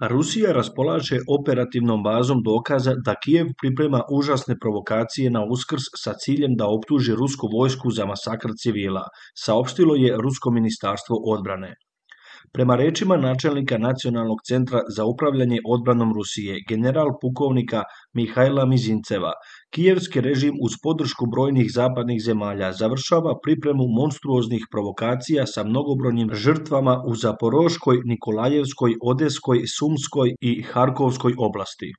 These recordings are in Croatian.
Rusija raspolaže operativnom bazom dokaza da Kijev priprema užasne provokacije na Uskrs sa ciljem da optuži rusku vojsku za masakr civila, saopštilo je Rusko ministarstvo odbrane. Prema rečima načelnika Nacionalnog centra za upravljanje odbranom Rusije, general pukovnika Mihajla Mizinceva, kijevski režim uz podršku brojnih zapadnih zemalja završava pripremu monstruoznih provokacija sa mnogobrojnim žrtvama u Zaporoškoj, Nikolajevskoj, Odeskoj, Sumskoj i Harkovskoj oblasti.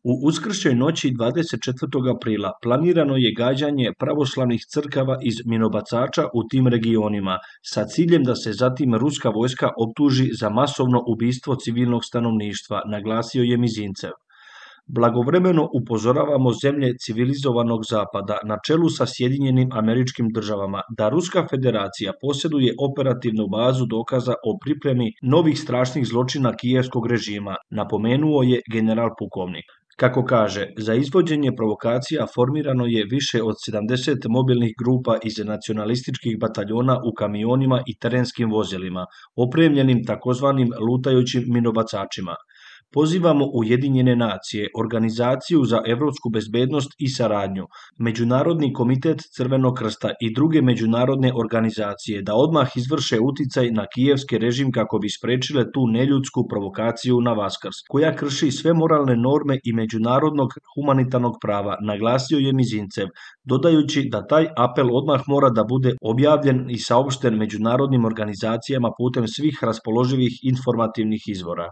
U uskršnjoj noći 24. aprila planirano je gađanje pravoslavnih crkava iz minobacača u tim regionima sa ciljem da se zatim ruska vojska optuži za masovno ubistvo civilnog stanovništva, naglasio je Mizincev. Blagovremeno upozoravamo zemlje civilizovanog zapada na čelu sa Sjedinjenim Američkim Državama da Ruska federacija posjeduje operativnu bazu dokaza o pripremi novih strašnih zločina kijevskog režima, napomenuo je general pukovnik. Kako kaže, za izvođenje provokacija formirano je više od 70 mobilnih grupa iz nacionalističkih bataljona u kamionima i terenskim vozilima, opremljenim takozvanim lutajućim minobacačima. Pozivamo Ujedinjene nacije, Organizaciju za evropsku bezbednost i saradnju, Međunarodni komitet Crvenog krsta i druge međunarodne organizacije da odmah izvrše uticaj na kijevski režim kako bi sprečile tu neljudsku provokaciju na Vaskrs, koja krši sve moralne norme i međunarodnog humanitarnog prava, naglasio je Mizincev, dodajući da taj apel odmah mora da bude objavljen i saopšten međunarodnim organizacijama putem svih raspoloživih informativnih izvora.